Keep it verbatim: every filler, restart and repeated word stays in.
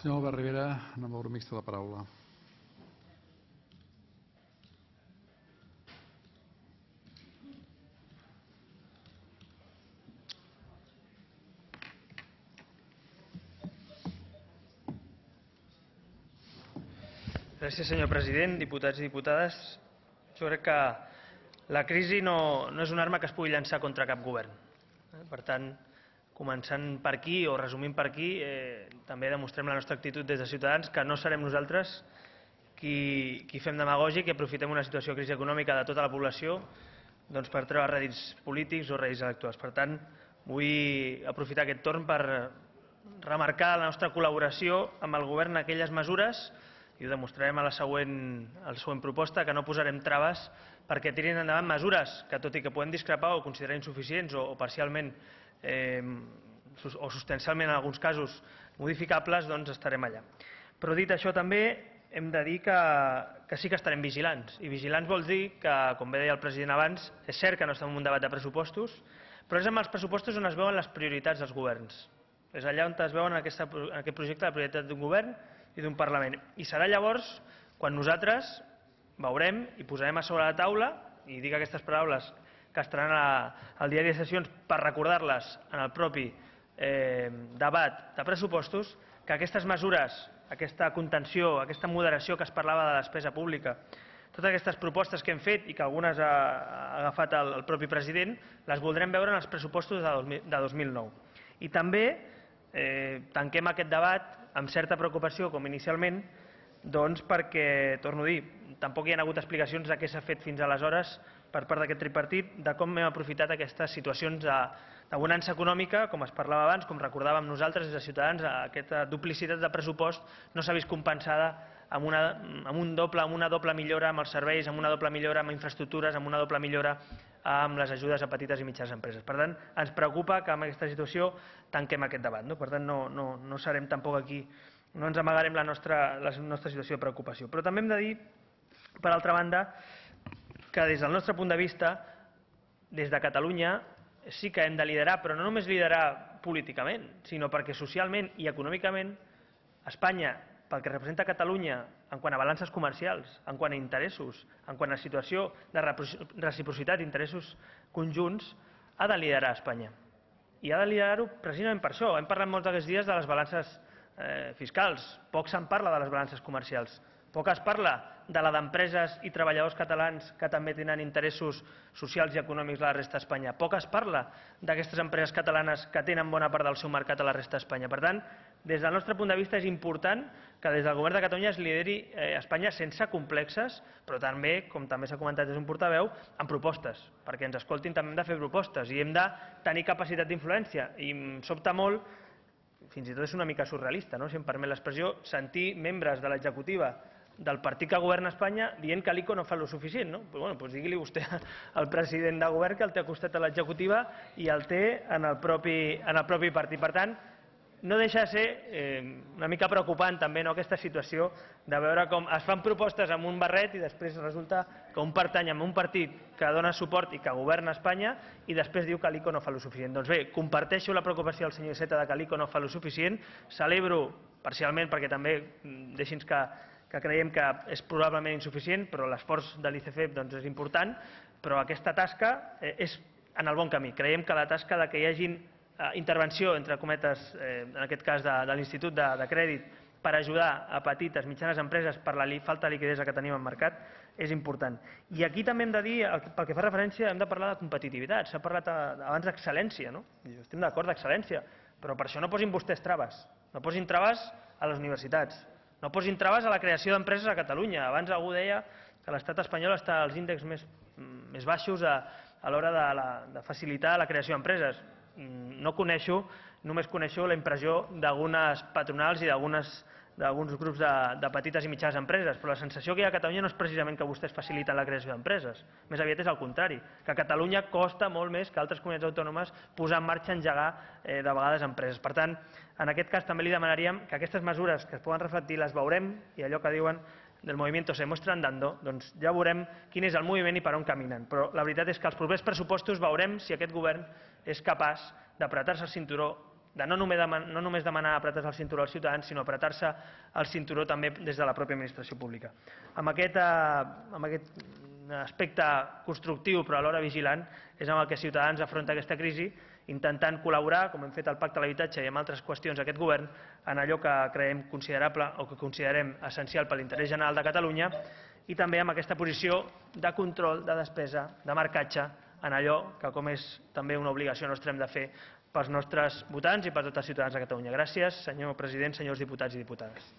Senyor Albert Rivera, en nom del grup mixt, la paraula. Gràcies, senyor president, diputats i diputades. Jo crec que la crisi no, no és una arma que es pugui llançar contra cap govern. Per tant, començant per aquí o resumint per aquí, eh, també demostrem la nostra actitud des de Ciutadans, que no serem nosaltres qui, qui fem demagògia i que aprofitem una situació de crisi econòmica de tota la població doncs, per treure rèdits polítics o rèdits electorals. Per tant, vull aprofitar aquest torn per remarcar la nostra col·laboració amb el govern en aquelles mesures, i ho demostrarem a la següent, a la següent proposta, que no posarem traves perquè tirin endavant mesures que, tot i que podem discrepar o considerar insuficients o, o parcialment eh, o substancialment en alguns casos modificables, doncs estarem allà. Però dit això també hem de dir que, que sí que estarem vigilants. I vigilants vol dir que, com bé deia el president abans, és cert que no estem en un debat de pressupostos, però és en els pressupostos on es veuen les prioritats dels governs. És allà on es veuen en, aquesta, en aquest projecte la prioritat d'un govern i d'un Parlament. I serà llavors quan nosaltres veurem i posarem a sobre la taula, i dic aquestes paraules que estaran al diari de sessions per recordar-les en el propi eh, debat de pressupostos, que aquestes mesures, aquesta contenció, aquesta moderació que es parlava de la despesa pública, totes aquestes propostes que hem fet i que algunes ha, ha agafat el, el propi president, les voldrem veure en els pressupostos de dos mil nou. I també eh, tanquem aquest debat amb certa preocupació, com inicialment, doncs perquè, torno a dir, tampoc hi ha hagut explicacions de què s'ha fet fins aleshores per part d'aquest tripartit, de com hem aprofitat aquestes situacions de, de bonança econòmica, com es parlava abans, com recordàvem nosaltres des de Ciutadans, aquesta duplicitat de pressupost no s'ha vist compensada amb una, amb, un doble, amb una doble millora amb els serveis, amb una doble millora amb infraestructures, amb una doble millora amb les ajudes a petites i mitjanes empreses. Per tant, ens preocupa que amb aquesta situació tanquem aquest debat. No? Per tant, no, no, no serem tampoc aquí, no ens amagarem la nostra, la nostra situació de preocupació. Però també hem de dir, per altra banda, que des del nostre punt de vista, des de Catalunya, sí que hem de liderar, però no només liderar políticament, sinó perquè socialment i econòmicament Espanya, pel que representa Catalunya en quant a balances comercials, en quant a interessos, en quant a situació de reciprocitat, interessos conjunts, ha de liderar Espanya. I ha de liderar-ho precisament per això. Hem parlat molts d'aquests dies de les balances eh, fiscals, poc se'n parla de les balances comercials, poc es parla de la d'empreses i treballadors catalans que també tenen interessos socials i econòmics a la resta d'Espanya. Poc es parla d'aquestes empreses catalanes que tenen bona part del seu mercat a la resta d'Espanya. Per tant, des del nostre punt de vista és important que des del govern de Catalunya es lideri eh, Espanya sense complexes, però també, com també s'ha comentat des d'un portaveu, amb propostes, perquè ens escoltin també hem de fer propostes i hem de tenir capacitat d'influència. I em sobta molt, fins i tot és una mica surrealista, no? Si em permet l'expressió, sentir membres de l'executiva del partit que governa Espanya dient que l'I C O no fa el suficient. No? Pues bueno, pues digui-li vostè al president de govern que el té al costat de l'executiva i el té en el propi, en el propi partit. Per tant, no deixa de ser eh, una mica preocupant també no, aquesta situació de veure com es fan propostes amb un barret i després resulta que un pertany a un partit que dona suport i que governa Espanya i després diu que l'I C O no fa el suficient. Doncs bé, comparteixo la preocupació del senyor Iceta de que l'I C O no fa el suficient, celebro parcialment perquè també deixi'ns que que creiem que és probablement insuficient, però l'esforç de l'I C F E doncs, és important, però aquesta tasca eh, és en el bon camí. Creiem que la tasca de que hi hagi eh, intervenció, entre cometes, eh, en aquest cas de, de l'Institut de, de Crèdit, per ajudar a petites, mitjanes empreses per la li, falta de liquiditat que tenim al mercat, és important. I aquí també hem de dir, pel que fa referència, hem de parlar de competitivitat. S'ha parlat abans d'excel·lència, no? Estem d'acord d'excel·lència, però per això no posin vostès traves. No posin traves a les universitats. No posin traves a la creació d'empreses a Catalunya. Abans algú deia que l'estat espanyol està als índexs més, més baixos a, a l'hora de, la, de facilitar la creació d'empreses. No coneixo, només coneixo la impressió d'algunes patronals i d'alguns grups de, de petites i mitjanes empreses, però la sensació que hi ha a Catalunya no és precisament que vostès faciliten la creació d'empreses. Més aviat és el contrari, que a Catalunya costa molt més que altres comunitats autònomes posar en marxa, engegar eh, de vegades empreses. Per tant, en aquest cas també li demanaríem que aquestes mesures que es poden reflectir les veurem i allò que diuen del movimiento se muestra andando, doncs ja veurem quin és el moviment i per on caminen. Però la veritat és que els propers pressupostos veurem si aquest govern és capaç d'apretar-se el cinturó de no només, demanar, no només demanar apretar-se el cinturó als ciutadans, sinó apretar-se el cinturó també des de la pròpia administració pública. Amb aquest, eh, amb aquest aspecte constructiu però alhora vigilant és amb el que Ciutadans afronta aquesta crisi, intentant col·laborar, com hem fet al Pacte de l'Habitatge i en altres qüestions d'aquest govern, en allò que creiem considerable o que considerem essencial per l'interès general de Catalunya i també amb aquesta posició de control, de despesa, de marcatge en allò que, com és també una obligació nostra, hem de fer pels nostres votants i per tots els ciutadans de Catalunya. Gràcies, senyor president, senyors diputats i diputades.